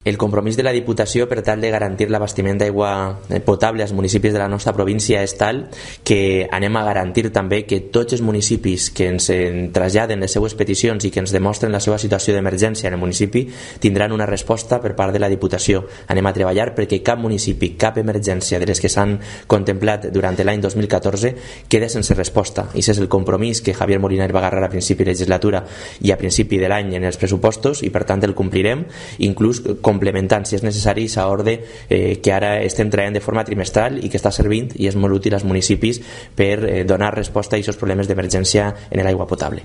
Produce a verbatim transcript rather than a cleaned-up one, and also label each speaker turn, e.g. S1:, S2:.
S1: El compromís de la Diputació per tal de garantir l'abastiment d'aigua potable als municipis de la nostra província és tal que anem a garantir també que tots els municipis que ens traslladen les seues peticions i que ens demostren la seva situació d'emergència en el municipi tindran una resposta per part de la Diputació. Anem a treballar perquè cap municipi, cap emergència de les que s'han contemplat durant l'any dos mil catorze quede sense resposta. I aquest és el compromís que Javier Moliner va agarrar a principi de legislatura i a principi de l'any en els pressupostos i per tant el complirem, inclús complementant si és necessari a ordre eh, que ara estem traient de forma trimestral i que està servint i és molt útil als municipis per eh, donar resposta a aquests problemes d'emergència en l'aigua potable.